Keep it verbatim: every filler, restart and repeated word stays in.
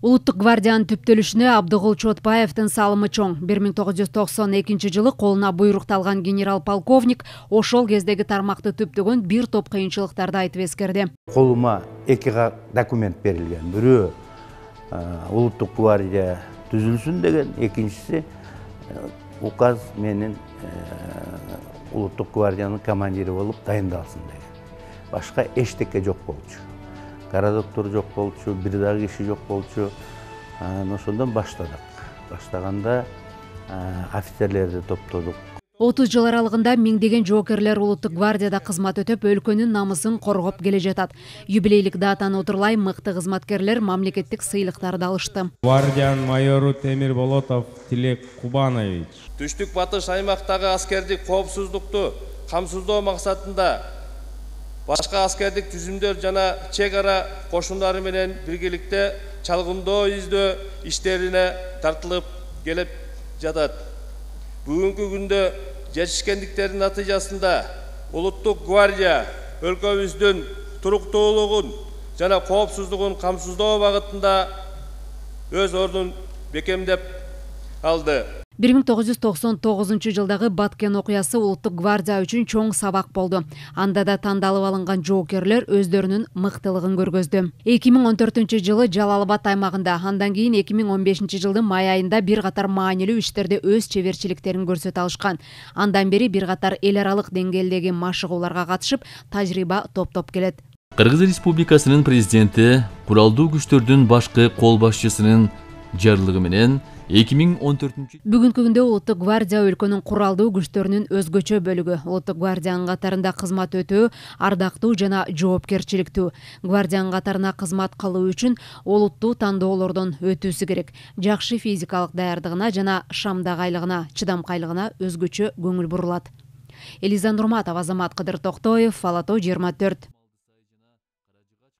Улуттук гвардиянын түптөлүшүнө Абдыгул Чотбаевдин салымы чоң. бир миң тогуз жүз токсон экинчи жылы колуна буйрукталган генерал-полковник ошол кездеги тармакты түптөгөн бир топ кыйынчылыктарды айтып эскерди. Колума эки документ берилген. Бирөө улуттук гвардия түзүлсүн деген, экинчиси указ менен улуттук гвардиянын командири болуп дайындалсын деген. Башка эчтеке жок болчу. Городоктор жок болчу, бир дагы киши жок болчу. Ошондон баштадык. Баштаганда офицерлерди топтодук. отуз жыл аралыгында миңдеген жоокерлер улуттук гвардияда кызмат өтөп, өлкөнүн намысын коргоп келе жатат. Юбилейлик датаны отурлай мыкты кызматкерлер мамлекеттик сыйлыктарды алышты. Гвардиянын майору Темир Болотов Тилек Кубанович. Түштүк батыш аймактагы аскердик коопсуздукту камсыздоо максатында башка аскердик түзүмдөр жана чек ара кошундары менен биргеликте чалгындоо издөө иштерине тартылып келип жатат. Бүгүнкү күндө жетишкендиктердин натыйжасында улуттук гвардия өлкөбүздүн туруктуулугун жана коопсуздугун камсыздоо багытында өз ордун бекемдеп алды. бир миң тогуз жүз токсон тогузунчу жылдагы Баткен окуясы улуттук гвардия үчүн чоң сабак болду. Анда да тандалып алынган жоокерлер өздөрүнүн мыктылыгын көргөздү. эки миң он төртүнчү жылы Жалал Абад аймагында, андан кийин эки миң он бешинчи жылдын май айында бир катар маанилүү иштерде өз чеберчиликтерин көрсөтө алышкан. Андан бери бир катар эл аралык деңгээлдеги машыгууларга катышып, тажрыйба топтоп келет. Кыргыз Республикасынын президенти куралдуу күчтөрдүн башкы кол башчысынын жарлыгы менен эки миң он төртүнчү Бүгүнкү күндө улуттук гвардия өлкөнүн куралдуу күчтөрүнүн өзгөчө бөлүгү. Улуттук гвардиянын катарында кызмат өтөө ардактуу жана жоопкерчиликтүү. Гвардиянын катарына кызмат кылуу үчүн олуттуу тандоолордон өтүүсү керек. Жакшы физикалык даярдыгына жана шамдагайлыгына, чыдамкайлыгына өзгөчө көңүл бурулат. Элиза Нурматова, Азамат Кыдыр Токтоев, Ала тоо жыйырма төрт.